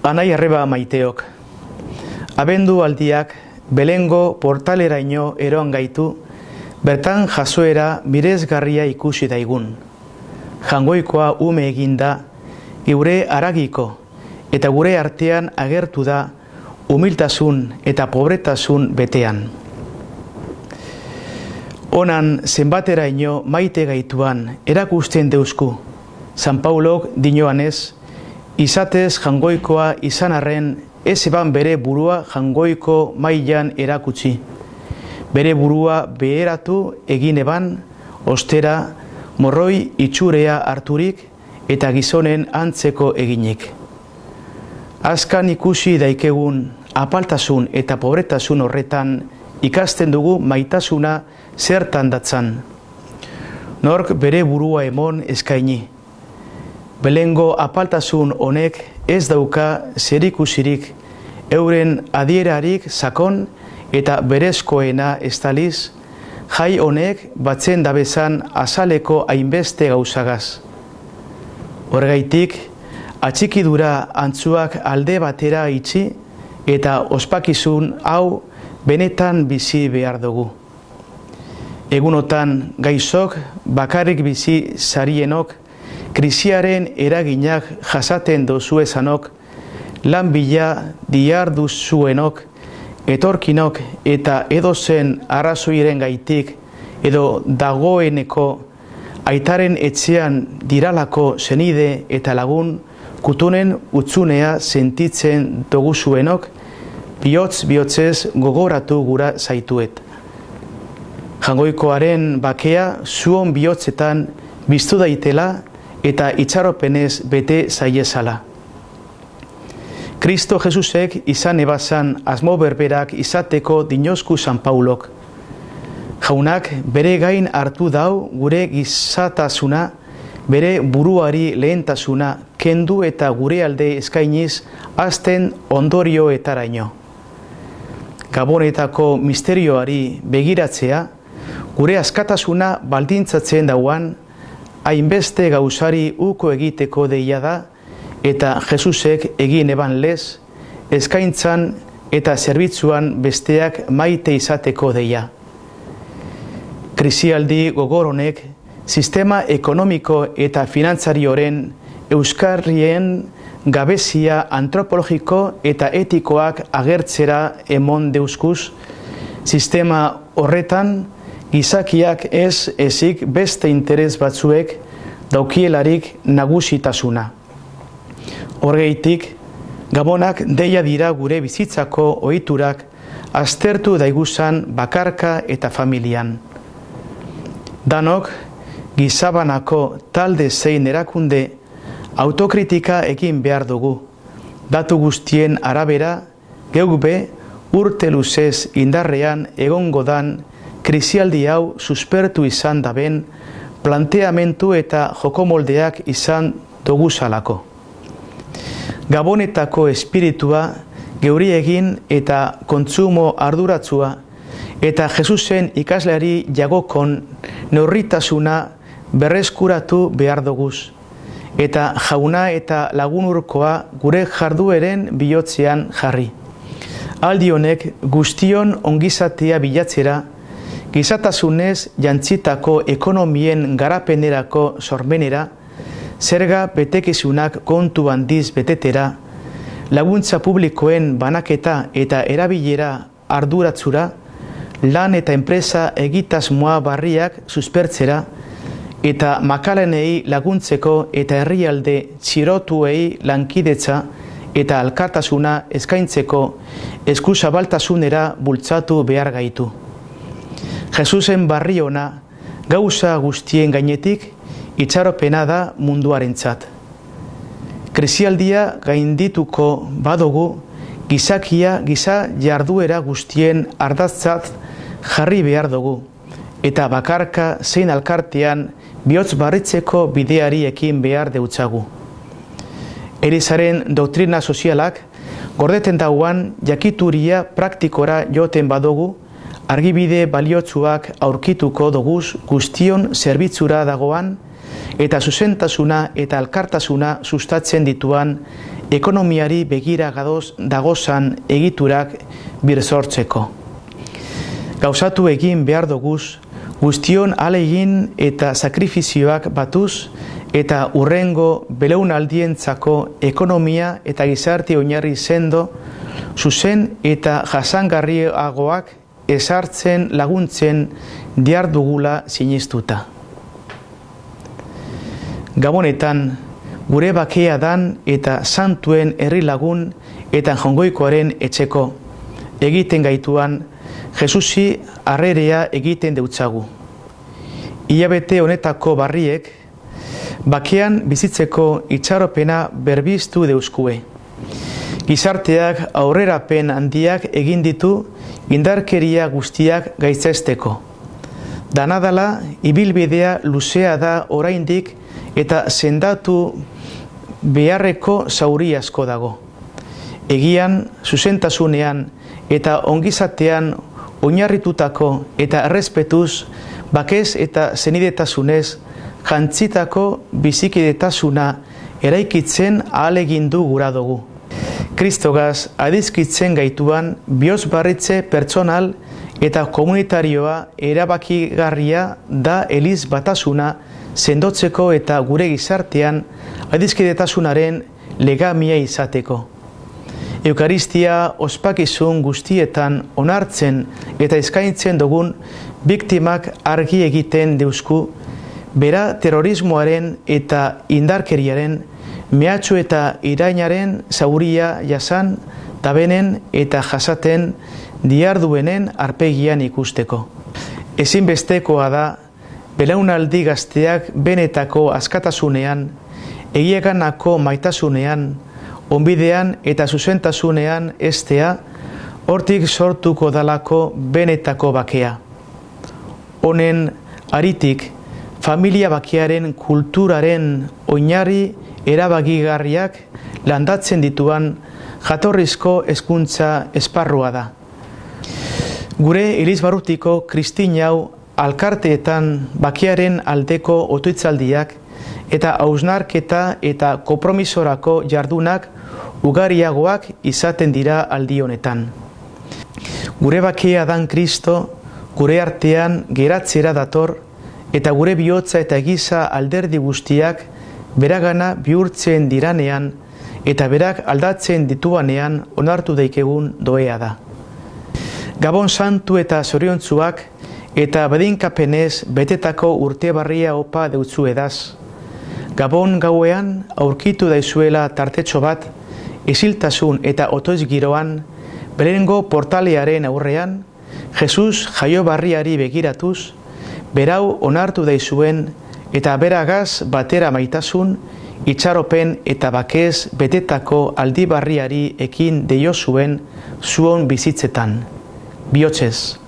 Anai arreba maiteok, abendu aldiak Belengo portaleraino eroan gaitu, bertan jasoera miresgarria ikusi daigun. Jangoikoa ume eginda, gure haragiko eta gure artean agertu da humiltasun eta pobretasun betean. Onan zenbateraino maite gaituan erakusten deusku, San Paulok dinoanez, izatez jangoikoa izan arren ez eban bere burua jangoiko mailan erakutsi. Bere burua beheratu egin eban, ostera, morroi itxurea harturik eta gizonen antzeko eginik. Azkan ikusi daikegun apaltasun eta pobretasun horretan ikasten dugu maitasuna zertan datzan. Nork bere burua emon eskaini. Belengo apaltasun honek ez dauka zerikusirik euren adierarik sakon eta berezkoena estaliz, jai honek batzen dabezan azaleko hainbeste gauzagaz. Horregaitik, atxikidura antzuak alde batera itxi eta ospakizun hau benetan bizi behar dugu. Egunotan gaizok bakarrik bizi zarienok, krisiaren eraginak jasaten dozuezanok, lan bila diarduzuenok, etorkinok eta edozen arrazoiren gaitik edo dagoeneko aitaren etxean diralako senide eta lagun kutunen utzunea sentitzen doguzuenok, bihotz-bihotzez gogoratu gura zaituet. Jangoikoaren bakea zuon bihotzetan biztu daitela eta itxaropenez bete zaiezala. Kristo Jesusek izan ebazan asmo berberak izateko dinozku San Paulok. Jaunak bere gain hartu dau gure gizatasuna, bere buruari lehentasuna kendu eta gure alde eskainiz azten ondorioetaraino. Gabonetako misterioari begiratzea, gure askatasuna baldintzatzen dauan, hainbeste gauzari uko egiteko deia da, eta Jesusek egin eban lez, eskaintzan eta zerbitzuan besteak maite izateko deia. Krisialdi gogor honek, sistema ekonomiko eta finantzarioren euskarrien gabezia antropologiko eta etikoak agertzera emon deuskuz, sistema horretan gizakiak ez ezik beste interes batzuek daukielarik nagusitasuna. Horregaitik, gabonak deia dira gure bizitzako ohiturak aztertu daiguzan bakarka eta familian. Danok, gizabanako talde zein erakunde autokritika egin behar dugu. Datu guztien arabera, geukbe urte luzez indarrean egongo dan krisialdi hau suspertu izan daben planteamentu eta jokomoldeak izan doguzalako. Gabonetako espiritua geuri egin eta kontsumo arduratzua eta Jesusen ikasleari jagokon neurritasuna berreskuratu behar doguz eta jauna eta lagunurkoa gure jardueren bihotzean jarri. Aldi honek guztion ongizatea bilatzera, gizatasunez jantzitako ekonomien garapenerako sormenera, zerga betekizunak kontu handiz betetera, laguntza publikoen banaketa eta erabilera arduratzura, lan eta enpresa egitasmoa barriak suspertzera, eta makalenei laguntzeko eta herrialde txirotuei lankidetza eta alkartasuna eskaintzeko eskuzabaltasunera bultzatu behar gaitu. Jesusen barri ona gauza guztien gainetik itxaropena da munduarentzat. Krisialdia gaindituko badugu gizakia giza jarduera guztien ardatzat jarri behar dugu eta bakarka zein alkartean bihotz barritzeko bideari ekin behar deutzagu. Elizaren doktrina sozialak gordeten dauan jakituria praktikora joten badugu, argibide baliotsuak aurkituko doguz guztion zerbitzura dagoan eta zuzentasuna eta alkartasuna sustatzen dituan ekonomiari begira dagozan egiturak birsortzeko. Gauzatu egin behar doguz, guztion ahalegin eta sakrifizioak batuz, eta urrengo belaunaldientzako ekonomia eta gizarte oinarri sendo, zuzen eta jasangarriagoak ezartzen laguntzen dihardugula sinistuta. Gabonetan, gure bakea dan eta santuen herri lagun eta jongoikoaren etxeko egiten gaituan Jesusi harrerea egiten deutzagu. Hilabete honetako barriek bakean bizitzeko itxaropena berbiztu deuskue. Gizarteak aurrerapen handiak egin ditu indarkeria guztiak gaitzesteko. Danadala ibilbidea luzea da oraindik eta sendatu beharreko zauri asko dago. Egian, zuzentasunean eta ongizatean oinarritutako eta errespetuz, bakez eta zenidetasunez, jantzitako bizikidetasuna eraikitzen ahalegindu gura dugu. Kristogaz adizkitzen gaituan bihozbarritze pertsonal eta komunitarioa erabakigarria da eliz batasuna sendotzeko eta gure gizartean adizkidetasunaren legamia izateko. Eukaristia ospakizun guztietan onartzen eta eskaintzen dugun biktimak argi egiten deusku, bera terrorismoaren eta indarkeriaren, mehatxu eta irainaren zauria jasan, tabenen eta jasaten diarduenen arpegian ikusteko. Ezinbestekoa da, belaunaldi gazteak benetako askatasunean, egiaganako maitasunean, onbidean eta zuzentasunean estea, hortik sortuko dalako benetako bakea. Honen aritik, familia bakearen kulturaren oinarri erabakigarriak landatzen dituan jatorrizko hezkuntza esparrua da. Gure Elizbarrutiko kristinau alkarteetan bakearen aldeko otoitzaldiak eta hausnarketa eta konpromisorako jardunak ugariagoak izaten dira aldi honetan. Gure bakea dan Kristo, gure artean geratzera dator, eta gure bihotza eta giza alderdi guztiak beragana bihurtzen diranean eta berak aldatzen dituanean onartu daikegun doea da. Gabon santu eta zoriontzuak eta bedinkapenez betetako urte barria opa deutzu edaz. Gabon gauean aurkitu daizuela tartetxo bat, isiltasun eta otoiz giroan, berengo portalearen aurrean, Jesus jaio barriari begiratuz, berau onartu daizuen eta beragaz batera maitasun, itxaropen eta bakez betetako aldi barriari ekin deio zuen zuon bizitzetan. Bihotzez.